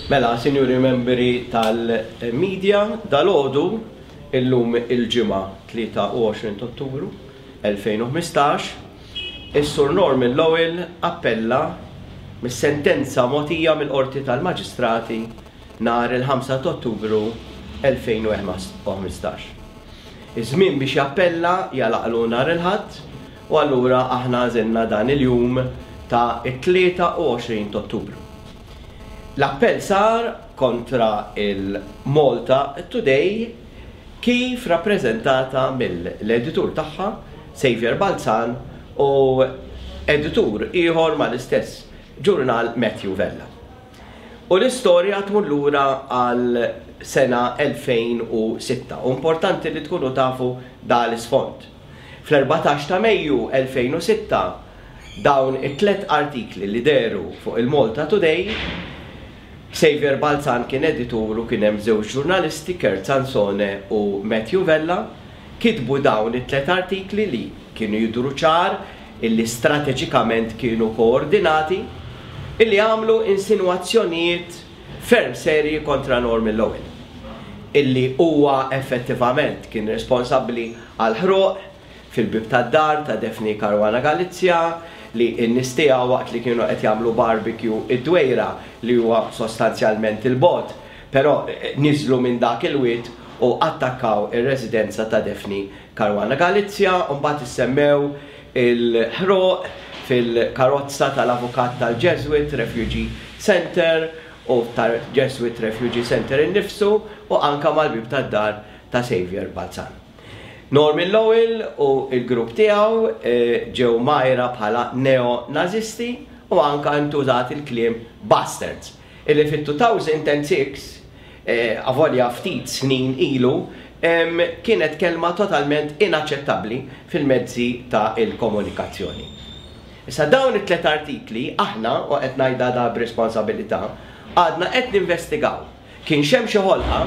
Mela, sinjuri membri tal-media, dalgħodu, illum il-Ġimgħa 23 t'Ottubru 2015, is-Sur Norman Lowell appella mis-sentenza mogħtija mill-Qorti tal-Maġistrati nhar il-Ħamsa t'Ottubru 2015. Iż-żmien biex jappella jagħlaqlu nhar il-Ħadd u allura aħna għażilna dan il-jum ta' it-23 t'Ottubru. L-appell sar kontra il-Malta Today kif rappreżentata mill-editur tagħha Saviour Balzan u editur ieħor mal-istess ġurnal Matthew Vella. U l-istorja tmur lura għal sena 2006 u importanti li tkunu tafu da l-isfond. Fl-14 ta' Mejju 2006, dawn it-tlett artikli li dehru fuq il-Malta Today, Saviour Balzan kien editur u kien hemm żewġ ġurnalisti, Kurt Sansone u Matthew Vella, kitbu dawn it-tlett artikli li kienu jidhru ċar illi strateġikament kienu koordinati, illi għamlu insinwazzjonijiet ferm serji kontra Norman Lowell, illi huwa effettivament kien responsabbli għall-ħruq fil-bieb tad-dar ta' Daphne Caruana Galizia li n-nies tiegħu waqt li kienu qed jagħmlu barbecue id-Dwejra li huwa sostanzjalment 'il bogħod, però niżlu minn dak il-wied u attakkaw ir-residenza ta' Daphne Caruana Galizia u mbagħad issemmew il-ħruq fil-karozza tal-avukat tal-Jesuit Refugee Centre u tal-Jesuit Refugee Centre innifsu u anke mal-bieb tad-dar ta' Saviour Balzan. Norman Lowell u l-grupp tiegħu ġew mgħajra bħala neo-Nażisti u anke ntużat il-kliem bastards illi fit-2006, avolja ftit snin ilu, kienet kelma totalment inaċċettabbli fil-mezzi ta' il-komunikazzjoni. Issa dawn it-tlett artikli aħna, u qed ngħidha da b'responsabilità, għadna qed ninvestigaw kienx hemm xi ħolqa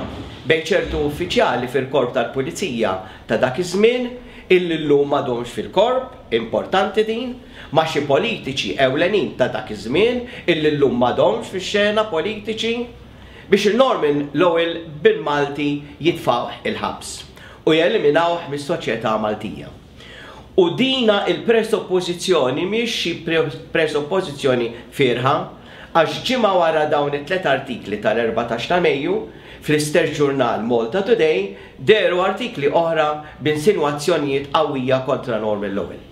bejn ċertu uffiċjali fil-Korp tal-Pulizija ta' dak iż-żmien illi llum m'għadhomx fil-Korp, importanti din, ma' xi politiċi ewlenin ta' dak iż-żmien illi llum m'għadhomx fix-xena politiċi, biex il-Norman Lowell bil-Malti jitfgħuh il-ħabs u jeliminawh mis-soċjetà Maltija. U dina il-presuppożizzjoni mhix xi presuppożizzjoni fierħa, għax ġimgħa wara dawn it-tlett artikli tal-14 ta' Mejju, fl-istess ġurnal Malta Today dehru artikli oħra b'insinwazzjonijiet qawwija kontra Norman Lowell.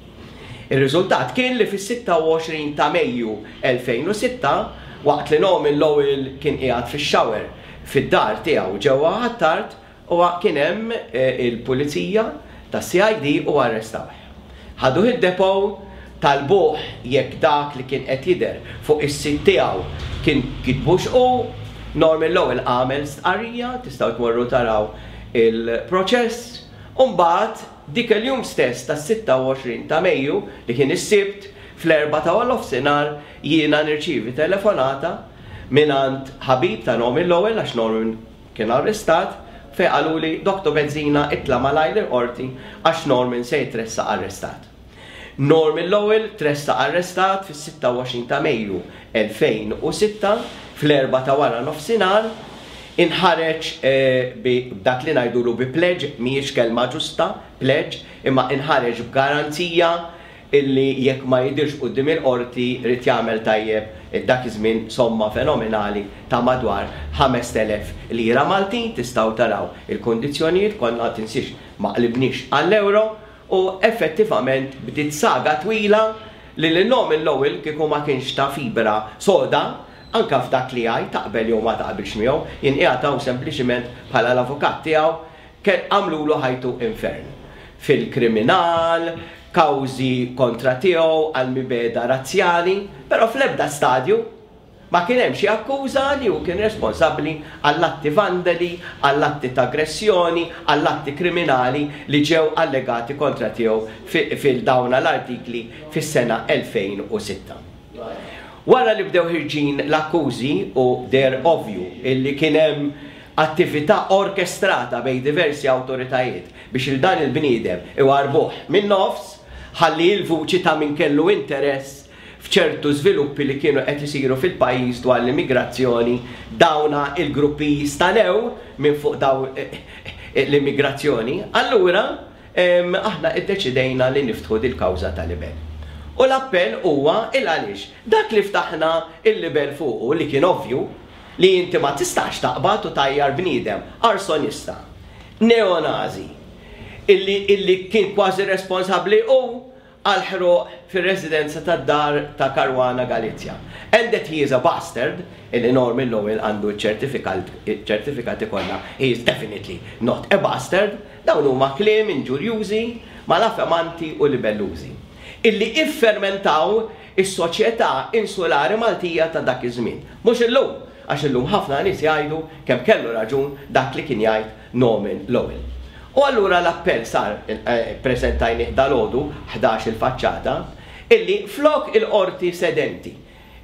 Ir-riżultat kien li fis-26 ta' Mejju 2006, waqt li Norman Lowell kien qiegħed fix-shower fid-dar tiegħu ġewwa Ħ'Attard, huwa kien hemm il-pulizija tas-CID u arrestawh. Ħaduh id-depot, talbuh jekk dak li kien qed jidher fuq is-sit tiegħu kien kitbux hu. Norman Lowell għamel stqarrija, tistgħu tmorru taraw il-proċess, u mbagħad Dik il-jum stess tas-26 ta' Mejju, li kien is-Sibt, fl-erbgħa ta' nofsinhar jiena nirċievi telefonata mingħand ħabib ta' Norman Lowell, għax Norman kien arrestat, fejn qaluli, Dottor Bezzina itla' malajr il-Qorti għax Norman se jitressaq arrestat. Norman Lowell tressaq arrestat fis-26 ta' Mejju 2006 fl-erbgħa ta' wara nofsinhar, inħareġ bi dak li ngħidulu bi pledge, mhijiex kelma ġusta, pledge, imma inħareġ b'garanzija illi jekk ma jidhirx quddiem il-Qorti jrid jagħmel tajjeb dak iż-żmien somma fenomenali ta' madwar 5,000 lira Maltin, tistgħu taraw il-kundizzjonijiet, konna tinsiex ma qlibniex għall-ewro, U effettivament bdiet saga twila li lil Norman Lowell kieku ma kienx ta' fibra soda, anke f'dak li jgħid, taqbel jew ma taqbilx miegħu, jien qiegħed hawn sempliċiment bħala l-avukat tiegħu, għamlulu ħajtu infern. Fil-kriminal, kawżi kontra tiegħu għal mibegħda razzjali, però fl-ebda stadju Ma kien hemm xi akkuża li hu kien responsabbli għall-atti vandali, għall-atti ta' aggressjoni, għall-atti kriminali li ġew allegati kontra tiegħu fil-dawna l-artikli fis-sena 2006. Wara li bdew ħirġin l-akkużi u deher ovvju illi kien hemm attività orkestrata bejn diversi awtoritajiet biex 'il dan il-bniedem iwarrbuh min-nofs ħalli l-vuċi ta' min kellu interess. f'ċertu żviluppi li kienu qed isiru fil-pajjiż dwar l-immigrazzjoni, dawna il-gruppi jistanew minn fuq daw l-immigrazzjoni, allura aħna iddeċidejna li niftħu dil-kawża ta' libell. U l-appell huwa il għaliex dak li ftaħna il-libell fuqu li kien ovvju li inti ma tistax taqbad u tgħajjar bniedem arsonista, neonazi, illi illi kien kważi responsabbli hu għall-ħruq fir-residenza tad-dar ta' Caruana Galizia. And that he is a bastard, illi Norman Lowell għandu ċ-ċertifikati kollha, he is definitely not a bastard, dawn huma kliem inġurjużi, malafemanti u libellużi, illi iffermentaw is-soċjetà insulari Maltija ta' dak iż-żmien. Mhux illum, għax illum ħafna nies jgħidu kemm kellu raġun dak li kien jgħid Norman Lowell. U allura l-appell sar, ppreżentajnih dalgħodu, 11 il-faċċata, illi flok il-Qorti sedenti,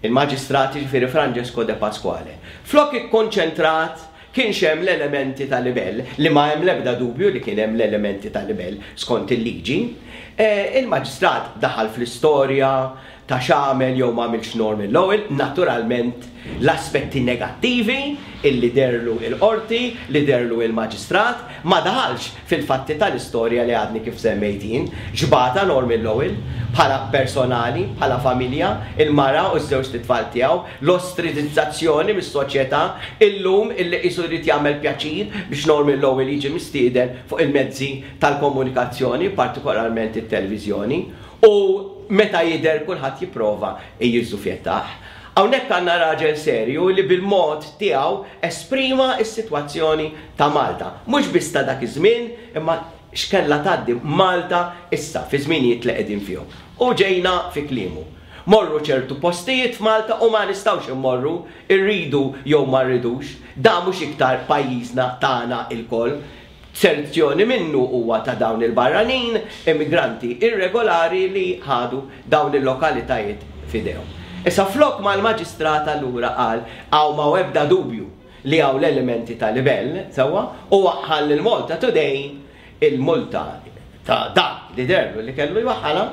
il-Maġistrat jiġifieri Francesco De Pasquale, flok ikkonċentrat kienx hemm l-elementi ta' libell, li ma hemm l-ebda dubju li kien hemm l-elementi ta' libell skont il-liġi, il-Maġistrat daħal fl-istorja, ta' x'għamel jew m'għamilx Norman Lowell, naturalment l-aspetti negattivi illi dehrlu il-Qorti, li dehrlu il-Maġistrat, ma daħalx fil-fatti tal-istorja li għadni kif semmejt jien, x'bata Norman Lowell, bħala personali, bħala familja, il-mara u ż-żewġt itfal tiegħu, l-ostridizzazzjoni mis-soċjetà, illum illi qisu jrid jagħmel pjaċir biex Norman Lowell jiġi mistieden fuq il-mezzi tal-komunikazzjoni, partikolarment it-televiżjoni, U meta jidher kulħadd jipprova jiżżufjettah. Hawnhekk għandna raġel serju li bil-mod tiegħu esprima s-sitwazzjoni ta' Malta. Mhux biss ta' dak iż-żmien imma x'kellha tgħaddi Malta issa fiż-żminijiet li qegħdin fihom. U ġejna fi kliemu. Morru ċertu postijiet f'Malta u ma nistgħux immorru, irridu jew ma rridux. Dan mhux iktar pajjiżna tagħna ilkoll. Serzjoni minnu huwa ta' dawn il-barranin, immigranti irregolari li ħadu dawn il-lokalitajiet f'idejhom. Issa flok ma l-Maġistrat allura qal hawn m'hawn ebda dubju li hawn l-elementi ta' libell, sewwa, u waħħal lil Malta Today il-multa ta' dak li deherlu li kellu jwaħħalha,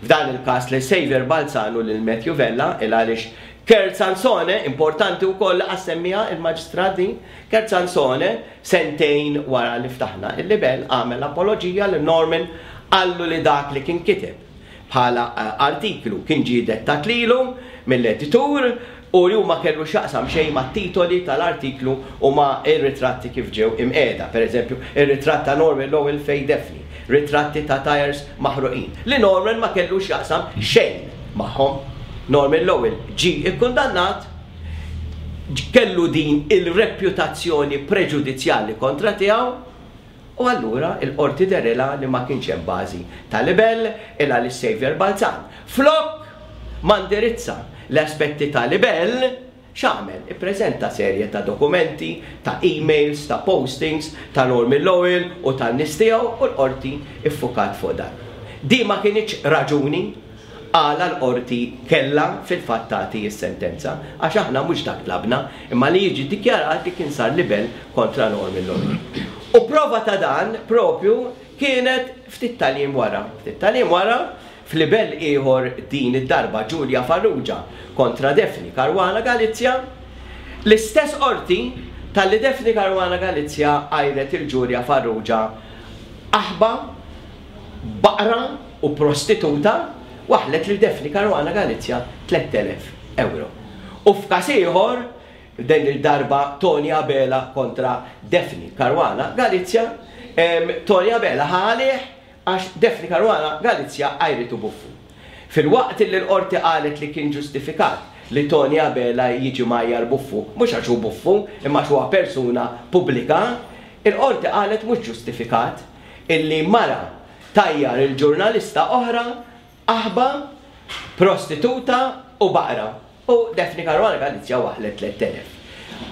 f'dan il-każ lil Saviour Balzan u lil Matthew Vella, il għaliex Kurt Sansone, importanti wkoll li qas semmiha il-Maġistrat din, Kurt Sansone, Sentejn wara li ftaħna il-libell għamel apoloġija lil Norman qallu li dak li kien kiteb bħala artiklu kien ġie dettat lilu mill-editur u li hu ma kellu x'jaqsam xejn mat-titoli tal-artiklu u ma' ir-ritratti kif ġew imqiegħda, per eżempju, ir-ritratt ta' Norman Lowell fejn Daphne, ritratti ta' tyres maħruqin, li Norman ma kellu x'jaqsam xejn magħhom. Norman Lowell ġie kkundannat. kellu din il-reputazzjoni preġudizzjali kontra tiegħu u allura l-Qorti dehrilha li ma kienx hemm bażi ta' libell il għaliex Saviour Balzan flok ma ndirizza l-aspetti ta' libell x'għamel? Ippreżenta serje ta' dokumenti, ta' emails, ta' postings ta' Norman Lowell u tan-nies tiegħu u l-Qorti ffukat fuq dan. Din ma kinitx raġuni għala l-Qorti kellha fil-fatt tagħti s-sentenza, għax aħna mhux dak tlabna, imma li jiġi ddikjarat li kien sar libell kontra Norman Lowell. U prova ta' dan proprju kienet ftit tal-jiem wara. Ftit tal-jiem wara, f'libell ieħor din id-darba Julia Farrugia kontra Daphne Caruana Galizia, l-istess Qorti talli Daphne Caruana Galizia għajret 'il Julia Farrugia qaħba, baqra u prostituta waħħlet lil Daphne Caruana Galizia 3,000 ewro. U f'każ ieħor, din il-darba Toni Abela kontra Daphne Caruana Galizia, Toni Abela ħa għalih għax Daphne Caruana Galizia għajritu buffu. Filwaqt li l-Qorti qalet li kien ġustifikat li Toni Abela jiġi mgħajjar buffu, mhux għax hu buffu, imma għax huwa persuna pubblika, il-Qorti qalet mhux ġustifikat illi mara tgħajjar il-ġurnalista oħra qaħba, prostituta u baqra u Daphne Caruana Galizia waħħlet 3,000.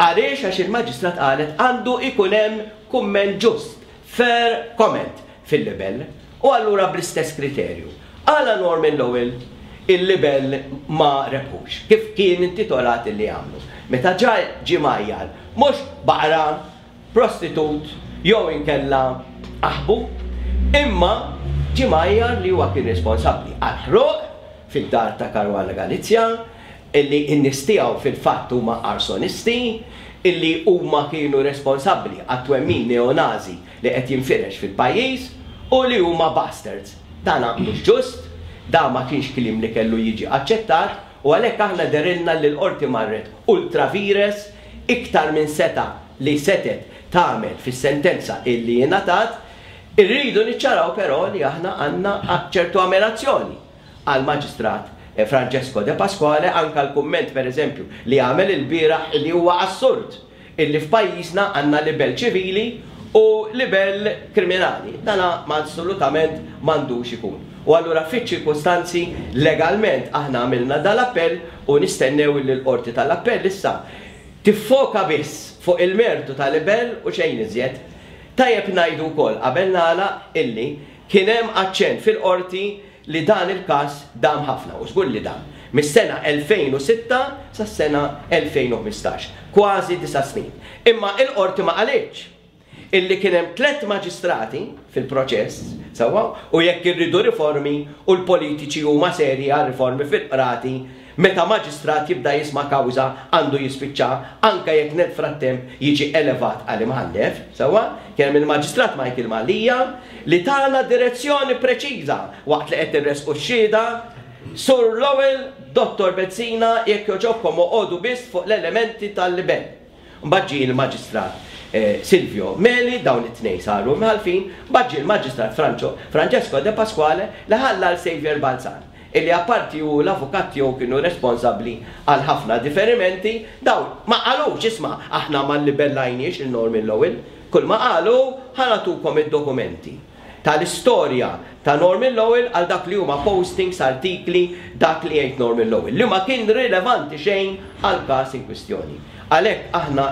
Għaliex? Għax il-Maġistrat qalet għandu jkun hemm kumment ġust, fair comment fil-libell u allura bl-istess kriterju. Għala Norman Lowell il-libell ma rebħux kif kien intitolat illi jagħmlu? Meta ġa ġie mgħajjar mhux baqra prostitut jew inkella qaħbu, imma ġie mgħajjar li huwa kien responsabbli għall-ħruq. fid-dar ta' Caruana Galizia, illi n-nies tiegħu fil-fatt huma arsonisti, illi huma kienu responsabbli għat-twemmin neo-Nazi li qed jinfirex fil-pajjiż u li huma bastards. Dana mhux ġust, dan ma kienx kliem li kellu jiġi aċċettat u għalhekk aħna dehrilna li l-Qorti marret ultra vires, iktar minn setgħa li setgħet tagħmel fis-sentenza illi ingħatat. Irridu niċċaraw però li aħna għandna ċertu ammirazzjoni għall-Maġistrat Francesco De Pasquale, anke l-kumment per eżempju li għamel ilbieraħ illi huwa assurd illi f'pajjiżna għandna libell ċivili u libell kriminali. Dan ma assolutament m'għandux ikun. U allura fiċ-ċirkustanzi legalment aħna għamilna dal-appell u nistennew illi l-Qorti tal-Appell issa tiffoka biss fuq il-mertu ta' libell u xejn iżjed. Tajjeb ngħidu wkoll qabel nagħlaq illi kien hemm aċċenn fil-Qorti li dan il-każ dam ħafna, u żgur li dam, mis-sena 2006 sas-sena 2015, kważi disa' snin. Imma il-Qorti ma qalitx illi kien hemm tlett maġistrati fil-proċess, sewwa, u jekk irridu riformi u l-politiċi huma serji għal riformi fil-qrati, meta maġistrat jibda jisma' kawża għandu jispiċċa anke jekk nel frattemp jiġi elevat għal imħallef, sewwa, kien hemm il-Maġistrat Michael Mallia li tana direzzjoni preċiża waqt li qed irressqu x-xhieda, Sur Lowell, Dottor Bezzina, jekk jogħġobkom oqogħdu biss fuq l-elementi tal-libell. Mbagħad ġie l-Maġistrat Silvio Meli, dawn it-tnejn saru imħallfin, mbagħad ġie l-Maġistrat Francesco De Pasquale li ħalla 'l Saviour Balzan, illi apparti hu u l-avukat tiegħu kienu responsabbli għal ħafna diferimenti, dawn ma qalux, isma' aħna ma llibellajniex lil Norman Lowell, kull ma qalu hu ħa nagħtukom id-dokumenti tal-istorja ta' Norman Lowell għal dak li huma postings, artikli, dak li jgħid Norman Lowell, li ma kien rilevanti xejn għall-każ in kwistjoni. Għalhekk aħna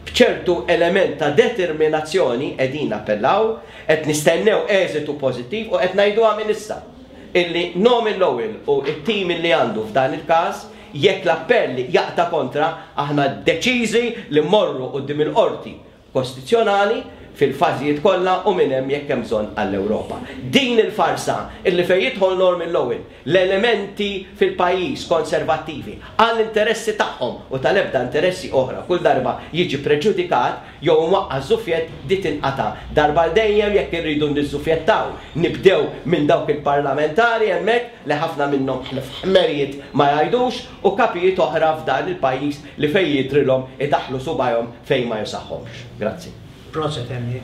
b'ċertu element ta' determinazzjoni qegħdin nappellaw, qed nistennew eżitu pożittiv u qed ngħiduha minn issa illi Norman Lowell u t-tim illi għandu f'dan il-każ, jekk l-appell jaqta' kontra, aħna deċiżi li mmorru quddiem il-Qorti Kostituzzjonali fil-fażijiet kollha u minn hemm jekk hemm bżonn għall-Ewropa. Din il-farsa illi fejn jidħol Norman Lowell, l-elementi fil-pajjiż konservattivi għall-interessi tagħhom u tal-ebda interessi oħra kull darba jiġi preġudikat jew imwaqqa' ż-żufjett di tinqata' darba għal dejjem jekk irridu niżżufjettaw nibdew minn dawk il-parlamentari hemmhekk li ħafna minnhom ħlief ħmerijiet ma jgħidux u kapijiet oħra f'dan il-pajjiż li fejn jidhrilhom idaħħlu subgħajhom fejn ma jusaħhomx. Grazzi. Proset Andy.